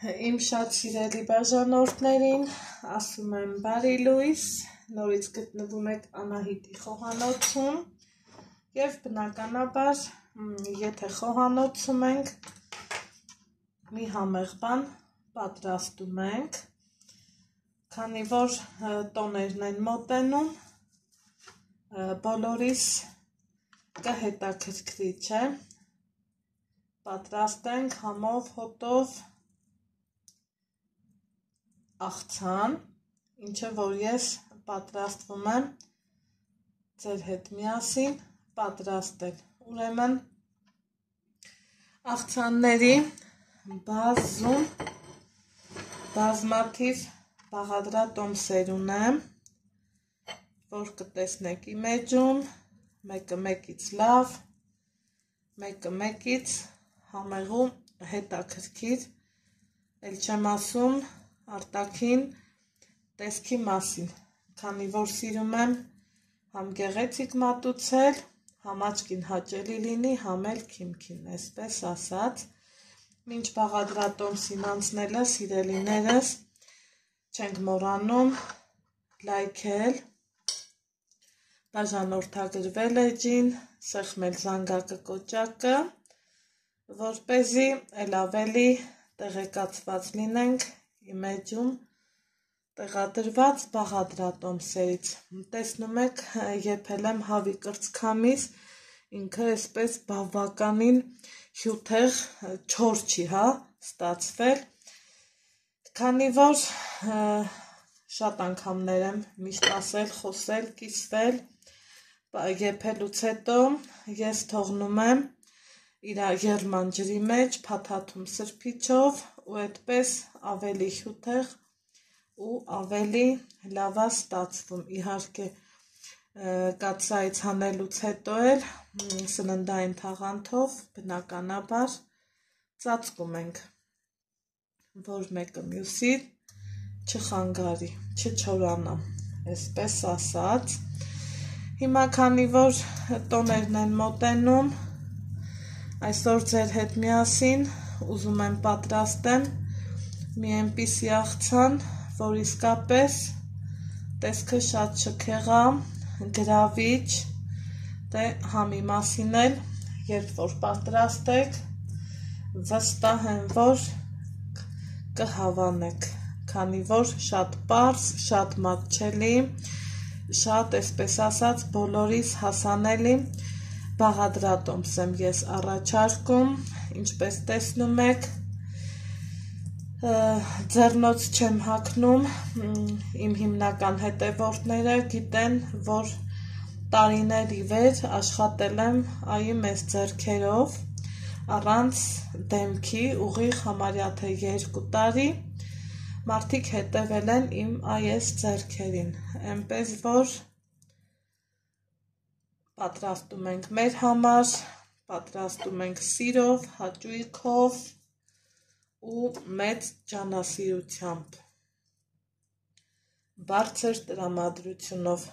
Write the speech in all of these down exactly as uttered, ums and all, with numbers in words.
Իմ շատ սիրելի բաժանորդներին ասում եմ բարի լույս, նորից գտնվում եք Անահիտի խոհանոցում և բնականաբար, եթե խոհանոցում ենք, մի համեղ բան պատրաստում ենք, քանի որ տոներն են մոտենում, բոլորիս կհետաքրքրի, չէ, պատրաստենք համով հոտով աղցան, ինչը որ ես պատրաստվում եմ ձեր հետ միասին պատրաստել, ուրեմն աղցանների բազում բազմաթիվ բաղադրատոմսեր ունեմ, որ կտեսնեք իմ էջում, մեկը մեկից լավ, մեկը մեկից համեղու հետաքրքիր, էլ չեմ ասում արտաքին տեսքի մասին, քանի որ սիրում եմ համ գեղեցիկ մատուցել, համ աչքին հաճելի լինի, համ էլ քիմքին, այսպես ասած, մինչ բաղադրատոմսին անցնելը, սիրելիներս, չենք մոռանում լայքել, բաժանորդագրվել էջին, սեղմել զանգակը կոճակը, որպեսզի էլ ավելի տեղեկացված լինենք իմ էջում տեղադրված բաղադրատոմսերից, տեսնում եք, եփել եմ հավի կրծքամիս, ինքը այսպես բավականին հյութեղ չոր չի, հա, ստացվել, քանի որ շատ անգամներ եմ միշտ ասել, խոսել, կիսվել, եփելուց հետո ես թողնում եմ իր եղման ջրի մեջ, փաթաթում սրբիչով ու այդպես ավելի հյութեղ ու ավելի լավ է ստացվում, իհարկե կաթսայից հանելուց հետո էլ սննդային թաղանթով բնականաբար ծածկում ենք, որ մեկը մյուսի չխանգարի, չչորանա, այսպես ասած, հիմա քանի որ տոներն են մոտենում, այսօր ձեր հետ միասին ուզում եմ պատրաստեմ մի այնպիսի աղցան, որ իսկապես տեսքը շատ շքեղա, գրավիչ, դե համի մասին էլ, երբ որ պատրաստեք, վստահ եմ, որ կհավանեք, քանի որ շատ պարզ, շատ մատչելի, շատ, այսպես ասած, բոլորիս հասանելի բաղադրատոմս եմ ես առաջարկում, ինչպես տեսնում եք, ձեռնոց չեմ հագնում, իմ հիմնական հետևորդները գիտեն, որ տարիներ ի վեր աշխատել եմ այ մեծ ձեռքերով, առանց դեմքի, ուղիղ համարյա թե երկու տարի, մարդիկ հետևել են իմ այս ձեռքերին, այնպես որ պատրաստում ենք մեր համար, պատրաստում ենք սիրով, հաճույքով ու մեծ ջանասիրությամբ, բարձր տրամադրությունով,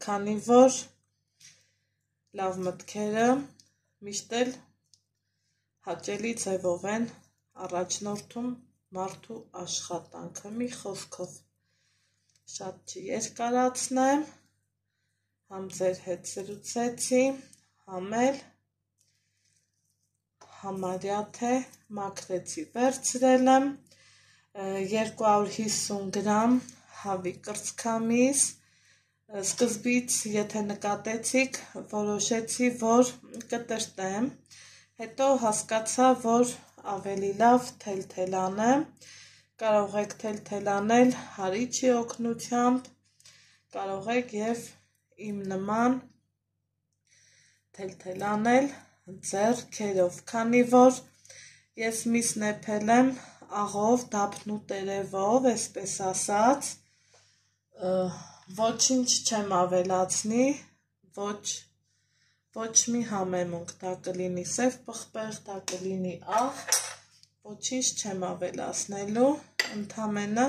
քանի որ լավ մտքերը միշտ էլ հաճելի ձևով են առաջնորդում մարդու աշխատանքը, մի խոսքով շատ չերկարացնեմ, համ ձեր հետ զրուցեցի, համ էլ համարյա թե մաքրեցի, վերցրել եմ երկու հարյուր հիսուն գրամ հավի կրծքամիս, սկզբից, եթե նկատեցիք, որոշեցի, որ կտրտեմ, հետո հասկացա, որ ավելի լավ թելթել անեմ, կարող եք թելթել անել հարիճի օգնությամբ, կարող եք և իմ նման թելթել անել ձեռքերով, քանի որ ես միս նեփել եմ աղով, դափնու տերևով, այսպես ասած, ոչինչ չեմ ավելացնի, ոչ մի համեմունք, դա կլինի սև պղպեղ, դա կլինի աղ, ոչինչ չեմ ավելացնելու, ընդամենը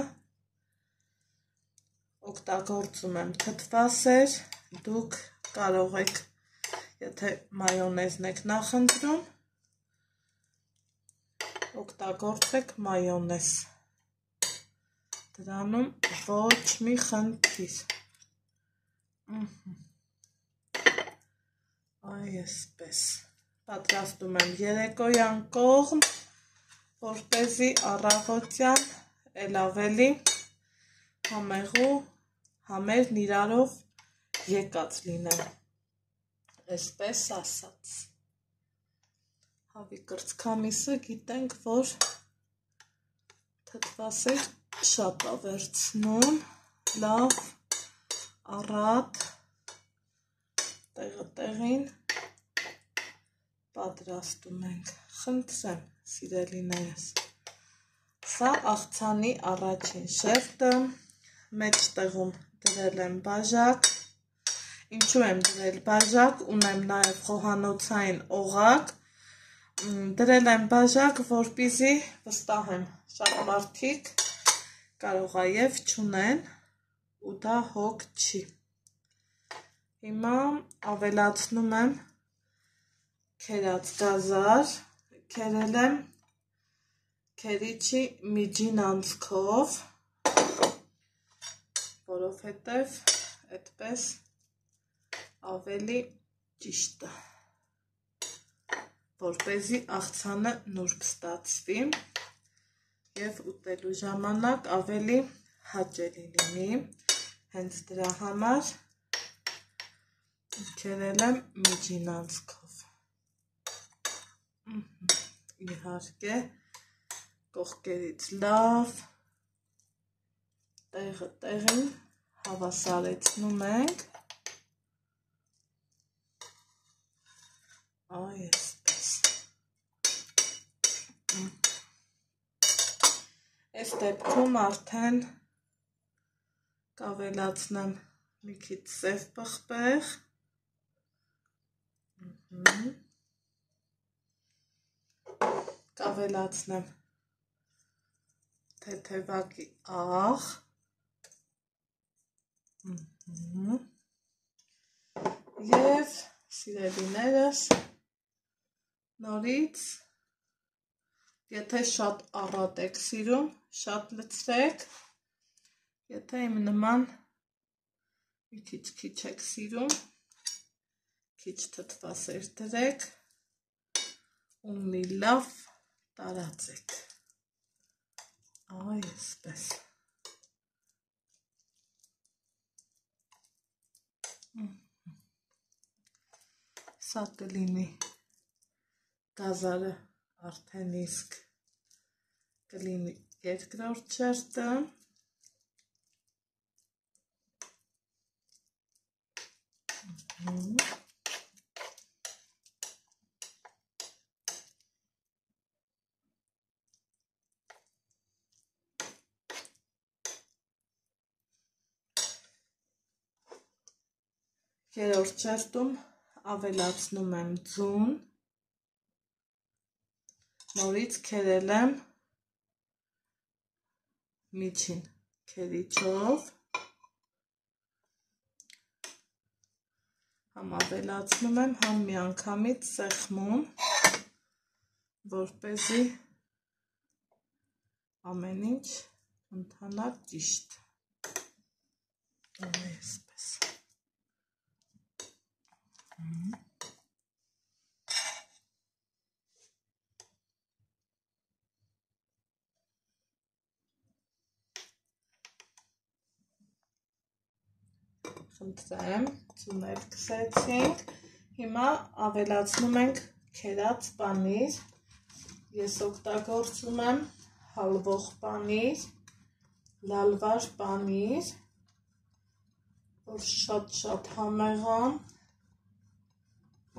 օգտագործում եմ թթվասեր, դուք կարող եք, եթե մայոնեզն եք նախընտրում, օգտագործեք մայոնեզ, դրանում ոչ մի խնդիր, այսպես, պատրաստում եմ երեկոյան կողմ, որպեսզի առավոտյան էլ ավելի համեղու համերն իրարով եկած լինեն, այսպես ասած, հավի կրծքամիսը գիտենք, որ թթվասեր շատ է վերցնում, լավ, առատ, տեղը տեղին պատրաստում ենք, խնդրեմ սիրելիներս, սա աղցանի առաջին շերտը, մեջտեղում դրել եմ բաժակ, ինչու եմ դրել բաժակ, ունեմ նաև խոհանոցային օղակ, դրել եմ բաժակ, որպեսզի վստահ եմ, շատ մարդիկ կարող է և չունեն ու դա հոգ չի, հիմա ավելացնում եմ քերած գազար, քերել եմ քերիչի միջին անցքով, որովհետև այդպես ավելի ճիշտ է, որպեսզի աղցանը նուրբ ստացվի և ուտելու ժամանակ ավելի հաճելի լինի, հենց դրա համար քերել եմ միջին անցքով, իհարկե կողքերից լավ տեղը տեղին հավասարեցնում ենք, այսպես, այս դեպքում արդեն կավելացնեմ մի քիչ սև պղպեղ, կավելացնեմ թեթևակի աղ, և սիրելիներս նորից, եթե շատ առատ եք սիրում, շատ լցրեք, եթե իմ նման մի քիչ-քիչ եք սիրում, քիչ թթվասեր դրեք ու մի լավ տարածեք, այսպես, սա կլինի գազարը արդեն իսկ կլինի երկրորդ շերտը, երրորդ շերտում ավելացնում եմ ձուն, նորից քերել եմ միջին քերիչով, համ ավելացնում եմ, համ միանգամից սեղմում, որպեսզի ամեն ինչ ընթանա ճիշտ, այսպես, խնդրեմ, ձունել քսեցինք, հիմա ավելացնում ենք քերած պանիր, ես օգտագործում եմ հալվող պանիր, լալվար պանիր, որ շատ-շատ համեղ է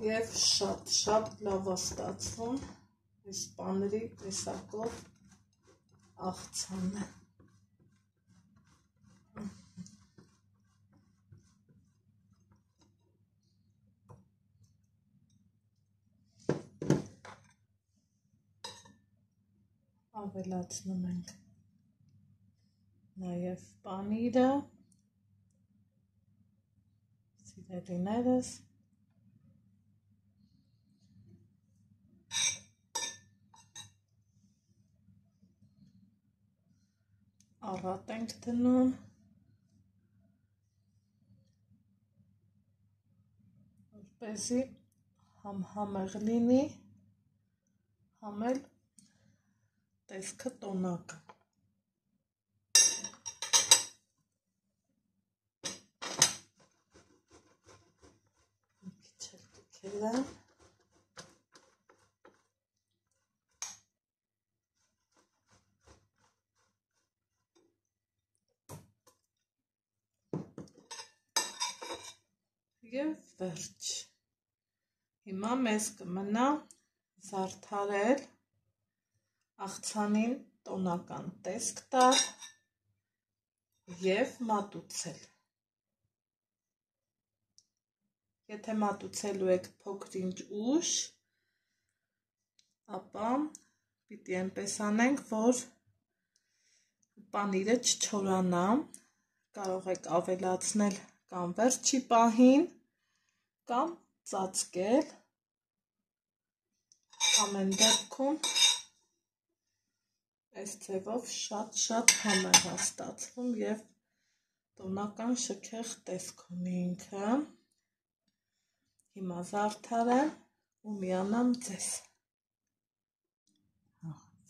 և շատ-շատ լավ է ստացվում այս պանիրի տեսակով աղցանը։ Ավելացնում ենք նաև պանիրը, սիրելիներս, Առատ ենք դնում, որպեսզի համ համեղ լինի, համ էլ տեսքը տոնակ։ Մի քիչ էլ կքելեմ։ Եվ վերջ։ Հիմա մեզ կմնա զարդարել, աղցանին տոնական տեսք տալ և մատուցել։ Եթե մատուցելու եք փոքր-ինչ ուշ, ապա պիտի այնպես անենք, որ պանիրը չչորանա, կարող եք ավելացնել կամ վերջի պահին, կամ ծածկել, ամեն դեպքում այս ձևով շատ-շատ համեղ է ստացվում և տոնական շքեղ տեսք ունի ինքը։ Հիմա զարդարեմ ու միանամ ձեզ։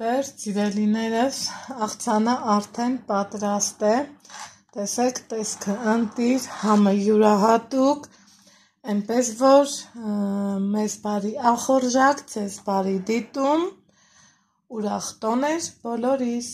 Վերջ սիրելիներս, աղցանը արդեն պատրաստ է, տեսեք տեսքը ընտիր, համը յուրահատուկ, այնպես որ մեզ բարի ախորժակ, ձեզ բարի դիտում, ուրախ տոներ բոլորիս։